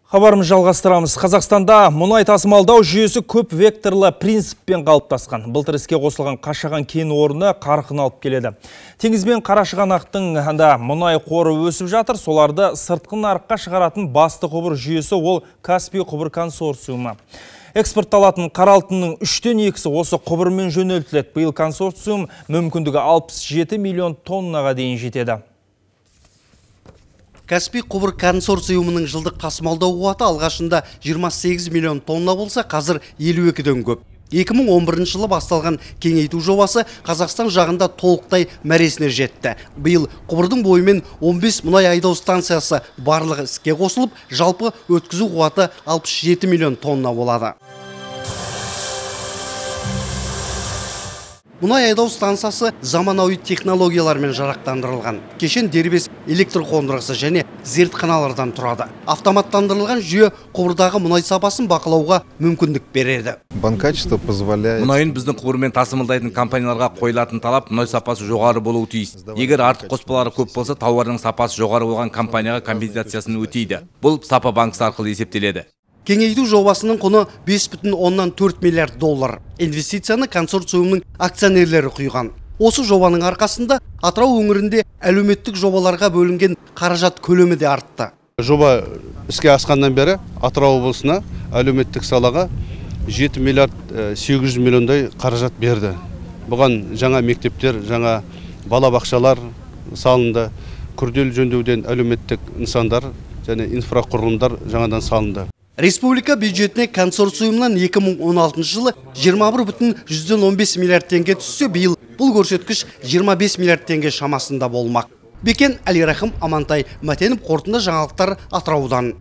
Хабарымыз жалғастырамыз. Қазақстанда мұнай тасымалдау жүйесі көп векторлы принциппен қалыптасқан. Былтыр іске қосылған Қашаған кен орны қарқын алып келеді. Теңіз бен Қарашығанақтың мұнай қоры өсіп жатыр. Соларды сыртқы нарыққа шығаратын басты құбыр жүйесі ол Каспий құбыр консорциумы. Экспортталатын қара алтынның 3/2 осы құбырмен жөнелтіледі. Биыл консорциум мүмкіндігі 67 миллион тоннаға дейін жетеді. Каспий құбыр консорциумының жылдық тасымалдау қуаты алғашында 28 миллион тонна болса, қазір 52-ден көп. 2011 жылы басталған кеңейту жобасы Қазақстан жағында толықтай мәресіне жетті. Биыл құбырдың бойымен 15 мұнай айдау станциясы барлығы іске қосылып, жалпы өткізу қуаты 67 миллион тонна болады. Мұнай айдау станциясы заманауи технологиялармен жарақтандырылған. Кешен дербес электр қондырғысы және зертханалардан тұрады. Автоматтандырылған жүйе құбырдағы мұнай сапасын бақылауға мүмкіндік береді. Мұнайын біздің құбырмен тасымалдайтын компанияларға қойылатын талап мұнай сапасы жоғары болуы тиіс. Егер артық қоспалары көп болса, тауардың сапасы жоғары болған компанияға компенсациясын өтейді. Бұл сапа банкісі арқылы есептеледі. Кеңейту жобасының құны 5,4 миллиард доллар. Инвестицияны консорциумның акционерлері құйған. Осы жобаның арқасында Атырау өңірінде әлеуметтік жобаларға бөлінген қаражат көлемі де артты. Жоба іске асқаннан бері Атырау облысына әлеуметтік салаға 7 миллиард 800 миллиондай қаражат берді. Бұған жаңа мектептер, жаңа балабақшалар салынды, күрделі жөндеуден әлеуметтік нысандар және инфрақұрылымдар жаңадан салынды. Республика бюджетіне консорциумнан 2016 жылы 21,15 миллиард теңге түссе, биыл бұл көрсеткіш 25 миллиард теңге шамасында болмақ. Бекен Әлирахым, Амантай Матенов, қорытынды жаңалықтар Атыраудан.